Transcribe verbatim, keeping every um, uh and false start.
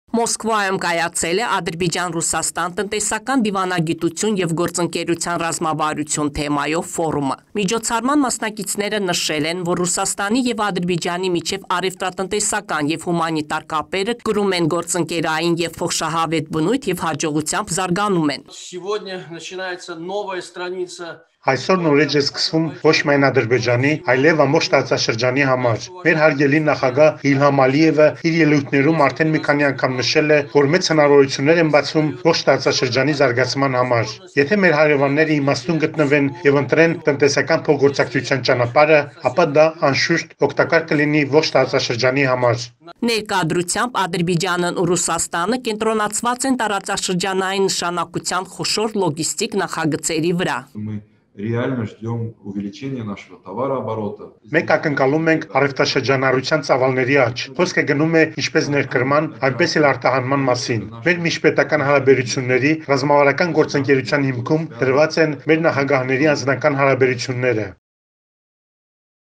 Մոսկվայում կայացել է Ադրբեջան-Ռուսաստան տնտեսական դիվանագիտություն և գործընկերության ռազմավարություն թեմայով ֆորումը։ Միջոցառման մասնակիցները նշել են, որ Ռուսաստանի և Ադրբեջանի միջև առևտրատնտեսական և հումանիտար կապերը կրում են գործընկերային և փոխշահավետ բնույթ և հաջողությամբ զարգանում են։ Այսօր նոր էջ է սկսվում ոչ միայն Ադրբեջանի, այլև ամբողջ տարածաշրջանի համար։ Մեր հարգելի նախագահ Իլհամ Ալիևը իր ելույթներում արդեն մի քանի անգամ նշել է, որ մեծ հնարավորություններ են բացվում ողջ տարածաշրջանի զարգացման համար։ Եթե մեր հարևանները իմաստուն գտնվեն եւ ընտրեն տնտեսական փոխգործակցության ճանապարհը, ապա դա անշուշտ օգտակար կլինի ողջ տարածաշրջանի համար։ Ներկայությամբ Ադրբեջանն ու Ռուսաստանը կենտրոնացված են տարածաշրջանային նշանակության խոշոր լոգիստիկ նախագծերի վրա։ Реально ждем увеличения нашего товарооборота. Մենք ակնկալում ենք առևտրաշրջանառության ծավալների աճ։ Խոսքը գնում է ինչպես ներկրման, այնպես էլ արտահանման մասին։ Մեր միջպետական հարաբերությունների ռազմավարական գործընկերության հիմքում դրված են մեր նախագահների անձնական հարաբերությունները։